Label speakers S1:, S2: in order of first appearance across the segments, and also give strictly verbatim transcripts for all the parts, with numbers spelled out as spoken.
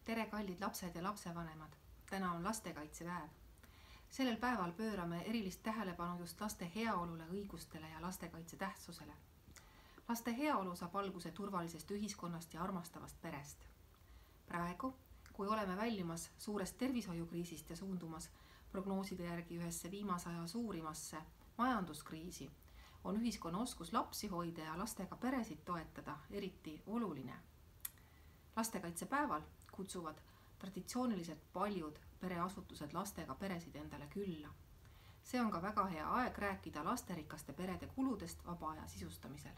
S1: Tere, kallid lapsed ja lapsevanemad! Täna on lastekaitsepäev. Sellel päeval pöörame erilist tähelepanu just laste heaolule, õigustele ja lastekaitse tähtsusele. Laste heaolu saab alguse turvalisest ühiskonnast ja armastavast perest. Praegu, kui oleme väljumas suurest tervishoiukriisist ja suundumas prognooside järgi ühesse viimase aja suurimasse majanduskriisi, on ühiskonna oskus lapsi hoida ja lastega peresid toetada eriti oluline. Lastekaitsepäeval kutsuvad traditsiooniliselt paljud pereasutused lastega peresid endale külla. See on ka väga hea aeg rääkida lasterikaste perede kuludest vaba aja sisustamisel.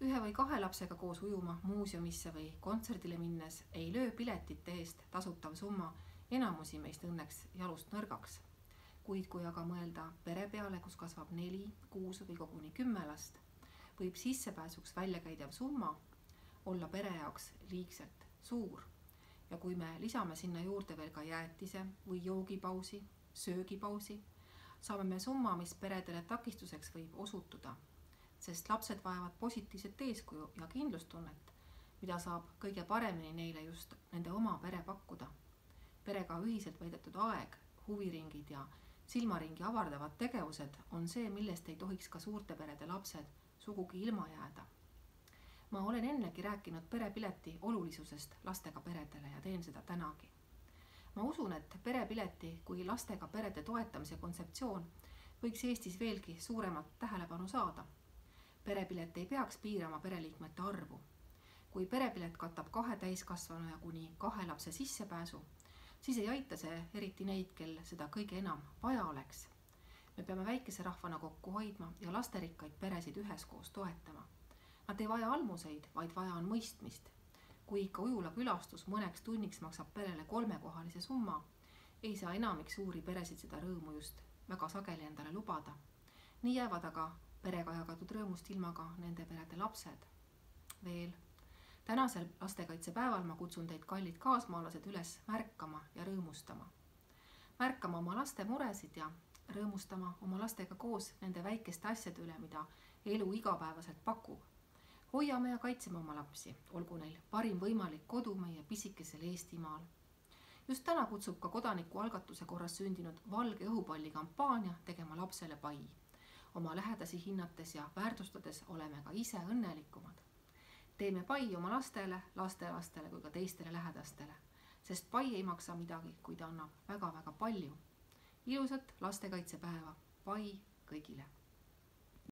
S1: Ühe või kahe lapsega koos ujuma, muuseumisse või kontserdile minnes ei löö piletite eest tasutav summa enamusi meist õnneks jalust nõrgaks. Kuid kui aga mõelda pere peale, kus kasvab neli, kuus või koguni kümme last, võib sissepääsuks välja käidav summa olla pere jaoks liigselt suur. Ja kui me lisame sinna juurde veel ka jäätise või joogipausi, söögipausi, saame me summa, mis peredele takistuseks võib osutuda, sest lapsed vajavad positiivset eeskuju ja kindlustunnet, mida saab kõige paremini neile just nende oma pere pakkuda. Perega ühiselt veedetud aeg, huviringid ja silmaringi avardavad tegevused on see, millest ei tohiks ka suurte perede lapsed sugugi ilma jääda. Ma olen ennegi rääkinud perepileti olulisusest lastega peredele ja teen seda tänagi. Ma usun, et perepileti kui lastega perede toetamise kontseptsioon võiks Eestis veelgi suuremat tähelepanu saada. Perepilet ei peaks piirama pereliikmete arvu. Kui perepilet katab kahe täiskasvanu ja kuni kahe lapse sissepääsu, siis ei aita see eriti neid, kel seda kõige enam vaja oleks. Me peame väikese rahvana kokku hoidma ja lasterikkaid peresid üheskoos toetama. Nad ei vaja almuseid, vaid vaja on mõistmist. Kui ikka ujula külastus mõneks tunniks maksab perele kolmekohalise summa, ei saa enamik suuri peresid seda rõõmu just väga sageli endale lubada. Nii jäävad aga perega jagatud rõõmust ilma ka nende perede lapsed. Veel, tänasel lastekaitsepäeval ma kutsun teid, kallid kaasmaalased, üles märkama ja rõõmustama. Märkama oma laste muresid ja rõõmustama oma lastega koos nende väikeste asjade üle, mida elu igapäevaselt pakub. Hoiame ja kaitseme oma lapsi, olgu neil parim võimalik kodu meie pisikesel Eestimaal. Just täna kutsub ka kodanikualgatuse korras sündinud valge õhupalli kampaania tegema lapsele pai. Oma lähedasi hinnates ja väärtustades oleme ka ise õnnelikumad. Teeme pai oma lastele, lastelastele kui ka teistele lähedastele, sest pai ei maksa midagi, kui ta annab väga-väga palju. Ilusat lastekaitsepäeva, pai kõigile!